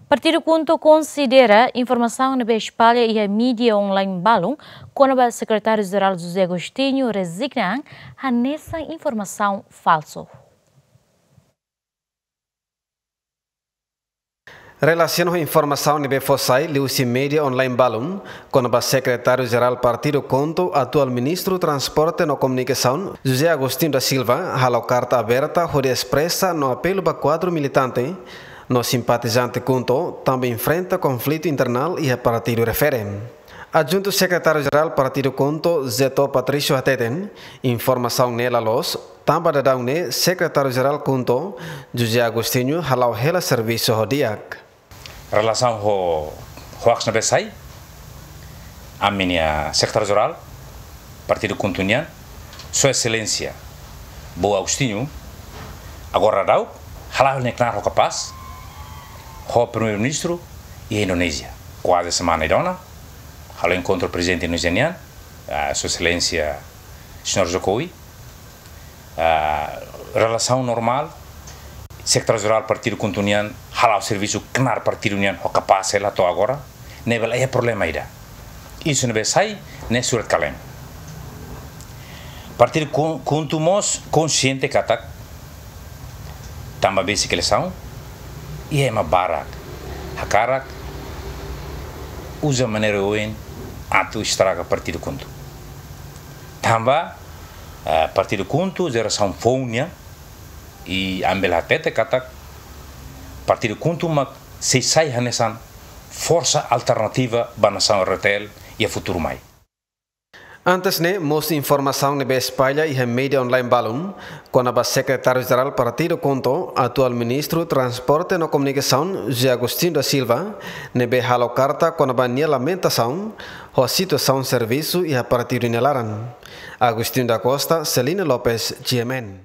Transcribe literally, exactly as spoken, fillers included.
Partidu KHUNTO konsidera informasaun ne'ebé espalla iha mídia online balun kona-ba Sekretáriu-Jerál José Agostinho rezigna an hanesan informasaun falsu. Relasiona ho informasaun ne'ebé fó sai liuhusi mídia online balun kona-ba Sekretáriu-Jerál Partidu KHUNTO, atuál Ministru Transporte no Komunikasaun, José Agostinho da Silva, halo karta aberta hodi espresa no apelu ba kuadru militante no simpatizante KHUNTO tanba enfrenta konflitu internál iha partidu refere. Adjuntu Sekretáriu-Jerál Partidu KHUNTO, Zeto Patrício hateten, informasaun ne'e la loos, tanba daudaun ne'e Sekretáriu-Jerál KHUNTO, José Agostinho, hala'o hela servisu ho di'ak. Relasaun ho hoax ne'ebé sai, ami-nia Sekretáriu-Jerál Partidu KHUNTO nian, Sua Exelénsia Boy Agostinho, agora daudaun, hala'o nia knaar ho kapás ho Primeiru-Ministru iha Indonézia. Kuaze semana ida ona, halo enkontru Prezidente Indonézia nian, ah, Sua Exelénsia Señór Jokowi, ah, relasaun normál, Sekretáriu-Jerál Partidu KHUNTO nian hala'o servisu knaar partidu nian ho kapás hela to'o agora, ne'ebé la iha problema ida. Isu ne'ebé sai ne'e surat-kale'en. Partidu KHUN-, KHUNTO mós konsiente katak tanba besik eleisaun, iha ema barak hakarak uza maneira oioin atu estraga Partidu KHUNTO. Tanba, eh, Partidu KHUNTO jerasaun foun nian, i ami bele hatete katak Partidu KHUNTO mak sei sai hanesan forsa alternativa ba nasaun R D T L iha futuru mai. Antes ne'e, mós informasaun ne'ebé espalla iha mídia online balun kona-ba Sekretáriu-Jerál Partidu KHUNTO, atuál Ministru Transporte no Komunikasaun, José Agostinho da Silva, ne'ebé halo karta kona-ba nia lamentasaun ho situasaun servisu iha partidu nia laran. Agostinho da Costa, Celina Lopes, G M N.